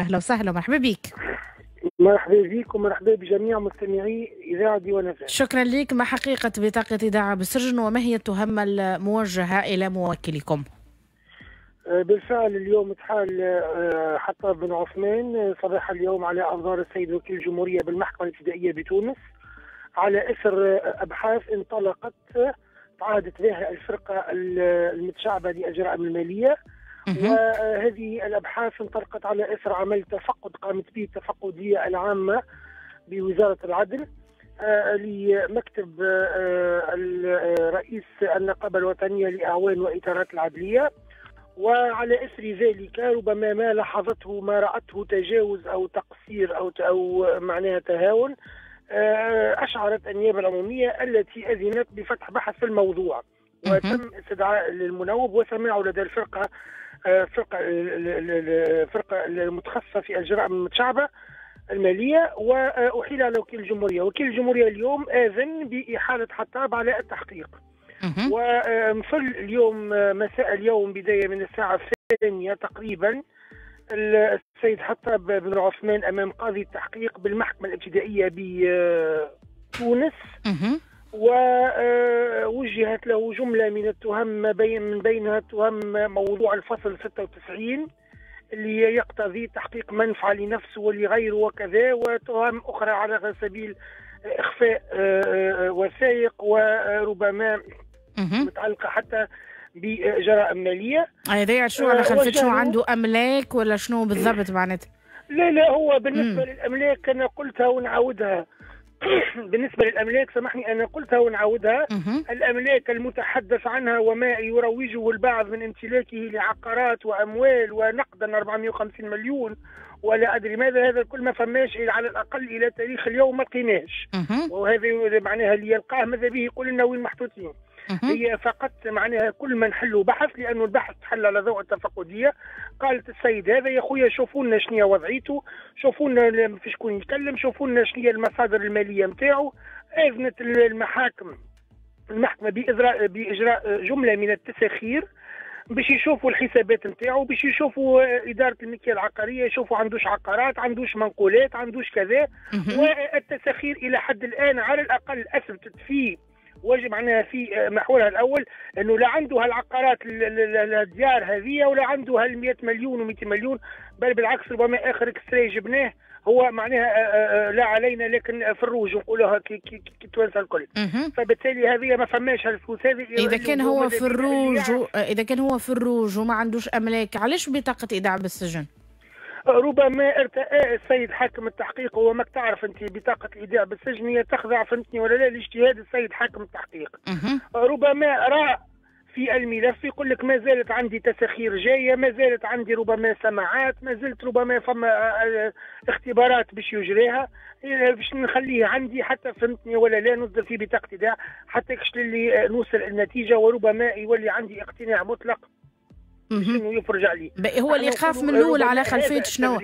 أهلا وسهلا ومرحبا بك. مرحبا بك ومرحبا بجميع مستمعي إذاعة ديوان FM. شكرا لك. ما حقيقة بطاقة إيداع بالسجن وما هي التهم الموجهة إلى موكلكم؟ بالفعل اليوم تحال حطاب بن عثمان صباح اليوم على أنظار السيد وكيل الجمهورية بالمحكمة الابتدائية بتونس على إثر أبحاث انطلقت تعهدت بها الفرقة المتشعبة للجرائم المالية، وهذه الأبحاث انطلقت على إثر عمل تفقد قامت به التفقدية العامة بوزارة العدل لمكتب رئيس النقابة الوطنية لأعوان وإطارات العدلية، وعلى إثر ذلك ربما ما لاحظته ما رأته تجاوز أو تقصير أو معناها تهاون، أشعرت النيابة العمومية التي أذنت بفتح بحث في الموضوع، وتم استدعاء للمنوب وسماعه لدى الفرقة المتخصصة في الجرائم المتشعبة المالية، وأحيل على وكيل الجمهورية. وكيل الجمهورية اليوم آذن بإحالة حطاب على التحقيق، ومثل اليوم مساء اليوم بداية من الساعة 2 تقريبا السيد حطاب بن عثمان أمام قاضي التحقيق بالمحكمة الابتدائية بتونس، ووجهت له جملة من التهم من بينها تهم موضوع الفصل 96 اللي يقتضي تحقيق منفعة لنفسه ولغيره وكذا، وتهم أخرى على سبيل إخفاء وثائق وربما متعلقة حتى بجرائم مالية. هذا شنو على خلفية شنو عنده أملاك ولا شنو بالضبط معناتها؟ لا لا، هو بالنسبة للأملاك أنا قلتها ونعاودها. بالنسبة للأملاك سامحني أنا قلتها ونعاودها. الأملاك المتحدث عنها وما يروجه البعض من امتلاكه لعقارات وأموال ونقدا 450 مليون ولا أدري ماذا، هذا الكل ما فماش على الأقل إلى تاريخ اليوم ما لقيناش، وهذا معناها اللي يلقاه ماذا به يقول لنا وين محطوطين. هي فقط معناها كل ما نحلوا بحث، لأنه البحث تحل على ضوء التفقدية. قالت السيد هذا يا خويا شوفوا لنا شنو وضعيته، شوفوا لنا في شكون يتكلم، شوفوا لنا شنو المصادر المالية نتاعو. أذنت المحكمة بإجراء جملة من التساخير باش يشوفوا الحسابات نتاعو، باش يشوفوا إدارة الملكية العقارية، يشوفوا عندوش عقارات، عندوش منقولات، عندوش كذا. والتساخير إلى حد الآن على الأقل أثبتت في واجب معناها في محورها الأول أنه لا عنده هالعقارات الديار هذه ولا عنده هال 100 مليون و200 مليون، بل بالعكس ربما آخر extrait جبناه هو معناها لا علينا لكن في الروج نقولوها كي توانسة الكل. فبالتالي هذه ما فماش هالفلوس هذه. إذا كان هو في الروج إذا كان هو في الروج وما عندوش أملاك، علاش بطاقة إيداع بالسجن؟ ربما ارتأى السيد حاكم التحقيق، هو ماك تعرف انت بطاقة الإيداع بالسجن هي تخضع فهمتني ولا لا لاجتهاد السيد حاكم التحقيق. ربما رأى في الملف يقول لك ما زالت عندي تساخير جاية، ما زالت عندي ربما سماعات، ما زلت ربما فما اختبارات باش يجريها، باش نخليه عندي حتى فهمتني ولا لا نصدر في بطاقة إيداع حتى كش اللي نوصل النتيجة، وربما يولي عندي اقتناع مطلق انه يفرج عليه. هو الايقاف من الاول على خلفية شنو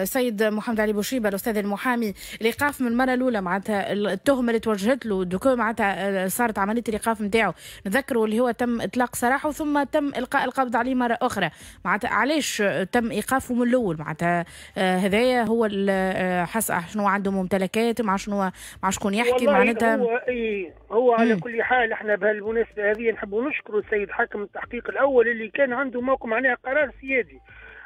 سيد محمد علي بوشيبه الاستاذ المحامي؟ الايقاف من المرة الاولى معناتها التهمة اللي توجهت له دوكو معناتها صارت عملية الايقاف نتاعو، نذكروا اللي هو تم اطلاق سراحه ثم تم القاء القبض عليه مرة اخرى، معناتها علاش تم ايقافه من الاول؟ معناتها هذايا هو حس شنو عنده ممتلكات، مع شنو مع شكون يحكي معناتها. هو هو على كل حال احنا بهالمناسبه هذه نحبوا نشكروا السيد حاكم التحقيق الاول اللي كان عنده موقف معناها قرار سيادي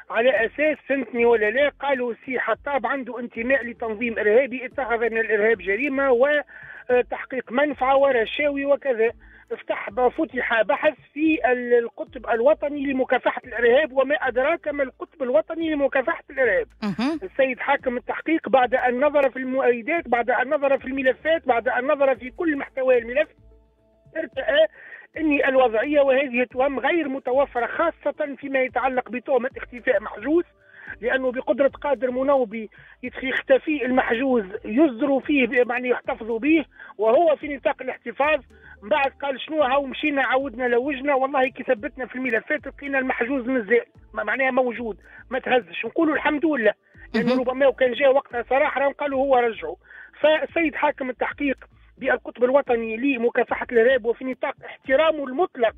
على اساس فهمتني ولا لا. قالوا سي حطاب عنده انتماء لتنظيم ارهابي، اتخذ من الارهاب جريمة وتحقيق منفعه ورشاوي وكذا. فتح بحث في القطب الوطني لمكافحة الارهاب، وما ادراك ما القطب الوطني لمكافحة الارهاب. السيد حاكم التحقيق بعد ان نظر في المؤيدات، بعد ان نظر في الملفات، بعد ان نظر في كل محتوى الملف، ارتأى ان الوضعية وهذه التهم غير متوفرة، خاصة فيما يتعلق بتهمه اختفاء محجوز، لانه بقدره قادر منوبي يختفي المحجوز يصدروا فيه يعني يحتفظوا به وهو في نطاق الاحتفاظ. من بعد قال شنو هاو مشينا عاودنا لوجنا، والله كي ثبتنا في الملفات لقينا المحجوز مازال معناها موجود ما تهزش، نقولوا الحمد لله، لانه ربما وكان جاء وقتها صراحة راهم قالوا هو رجعوا. فالسيد حاكم التحقيق بالقطب الوطني لمكافحة الإرهاب وفي نطاق احترامه المطلق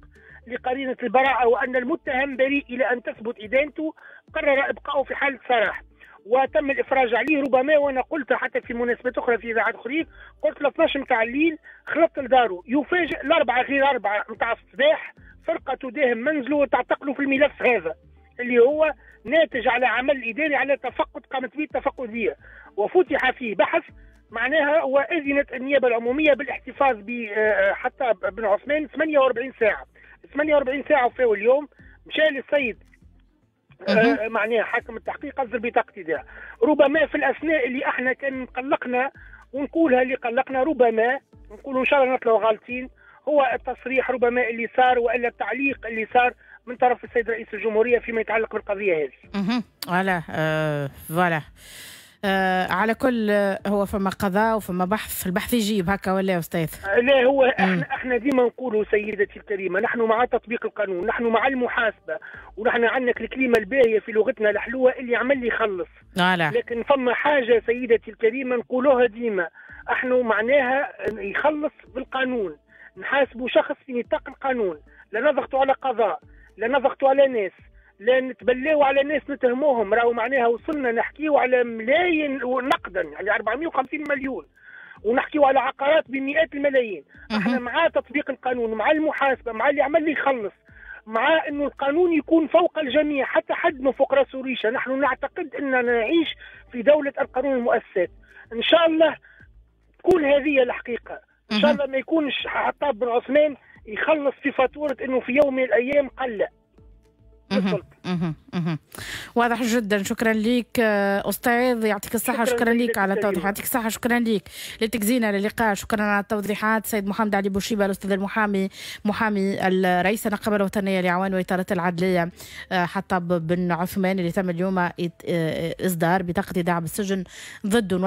لقرينة البراءة وأن المتهم بريء إلى أن تثبت إدانته، قرر إبقائه في حالة سراح. وتم الافراج عليه. ربما وانا قلت حتى في مناسبات اخرى في اذاعات اخرين، قلت ل 12 نتاع الليل خلطت لدارو، يفاجئ 3:45 نتاع الصباح فرقه تداهم منزله وتعتقله في الملف هذا اللي هو ناتج على عمل اداري على تفقد قامت به التفقديه، وفتح فيه بحث معناها، واذنت النيابة العمومية بالاحتفاظ بحطاب بن عثمان 48 ساعة. 48 ساعة وفاو اليوم مشى للسيد معناها حاكم التحقيق اصدر بطاقة ايداع. ربما في الاثناء اللي احنا كان قلقنا ونقولها اللي قلقنا، ربما نقولوا ان شاء الله نطلعوا غالطين، هو التصريح ربما اللي صار والا التعليق اللي صار من طرف السيد رئيس الجمهورية فيما يتعلق بالقضية هذه. voilà voilà. على كل هو فما قضاء وفما بحث، البحث يجيب هكا ولا يا استاذ؟ لا هو احنا ديما نقولوا سيدتي الكريمة، نحن مع تطبيق القانون، نحن مع المحاسبة، ونحن عندنا الكلمة الباهيه في لغتنا الحلوة اللي عمل يخلص. لكن فما حاجة سيدتي الكريمة نقولوها ديما، احنا معناها يخلص بالقانون، نحاسبوا شخص في نطاق القانون، لا نضغطوا على قضاء، لا نضغطوا على ناس، لا نتبلاو على ناس نتهموهم. راهو معناها وصلنا نحكيو على ملايين نقدا، يعني 450 مليون، ونحكيو على عقارات بمئات الملايين. احنا مع تطبيق القانون، مع المحاسبة، مع اللي عمل يخلص، مع انه القانون يكون فوق الجميع، حتى حد ما فوق راسه ريشه. نحن نعتقد اننا نعيش في دولة القانون والمؤسسات. ان شاء الله تكون هذه الحقيقة، ان شاء الله ما يكونش حطاب بن عثمان يخلص في فاتورة انه في يوم من الايام قلق. واضح جدا. شكرا لك استاذ، يعطيك الصحة. شكرا لك على التوضيح، يعطيك الصحة. شكرا لك لتجزينا للقاء، شكرا على التوضيحات سيد محمد علي بوشيبه الاستاذ المحامي، محامي الرئيس النقابة الوطنية لعوان واطارات العدليه حطاب بن عثمان اللي تم اليوم اصدار بطاقة ايداع بالسجن ضده.